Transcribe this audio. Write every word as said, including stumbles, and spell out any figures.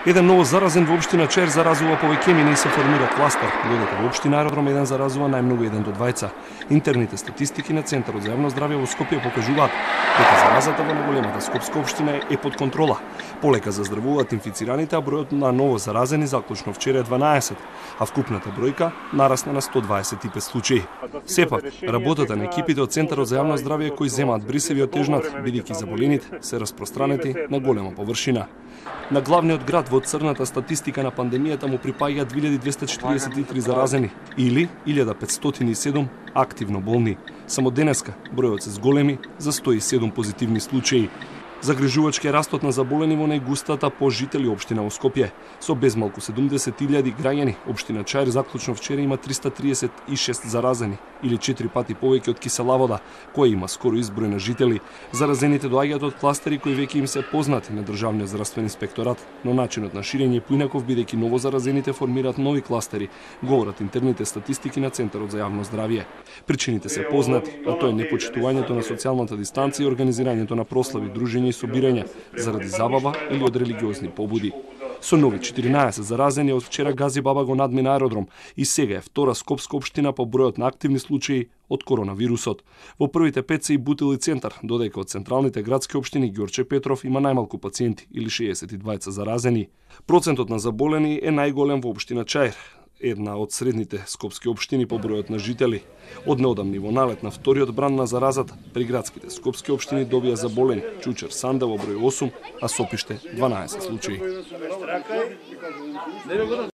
Еден ново заразен во општина Чаир заразува повеќе емина и се формира кластер, додека во општина Аеродром еден заразува најмногу еден до двајца. Интерните статистики на Центарот за јавно здравје во Скопје покажуваат дека заразата во најголемата скопска општина е под контрола. Полека заздравуваат инфицираните, а бројот на ново заразени заклучно вчера е дванаесет, а вкупната бројка нарасна на сто дваесет и пет случаи. Сепак, работата на екипите од Центарот за јавно здравје кои земаат брисеви од тежнат, бидејќи заболените се распространети на голема површина. На главниот град во црната статистика на пандемијата му припаѓаат две илјади двесте четириесет и три заразени или илјада петстотини и седум активно болни. Само денеска бројот се зголеми за сто и седум позитивни случаи. Загрижувачки е растот на заболени во најгустата по жители општина во Скопје. Со безмалку седумдесет илјади граѓани, општина Чаир заклучно вчера има триста триесет и шест заразени, или четири пати повеќе од Кисела Вода, која има скоро изброј на жители. Заразените доаѓаат од кластери кои веќе им се познати на Државниот здравствен инспекторат, но начинот на ширење е поинаков бидејќи новозаразените формираат нови кластери, говорат интерните статистики на Центарот за јавно здравје. Причините се познати, а тоа е непочитувањето на социјалната дистанција и организирањето на прослави, дружења и собирања заради забава или од религиозни побуди. Со нови четиринаесет заразени од вчера Гази Баба го надмина Аеродром и сега е втора скопска општина по бројот на активни случаи од коронавирусот. Во првите пет се и Бутил и Центар, додека од централните градски општини Ѓорче Петров има најмалку пациенти или шеесет и двајца заразени. Процентот на заболени е најголем во општина Чаир, една од средните скопски општини по бројот на жители. Од неодамни во налет на вториот бран на заразата, при градските скопски општини добија заболени Чучер Санда во број осум, а Сопиште дванаесет случаи.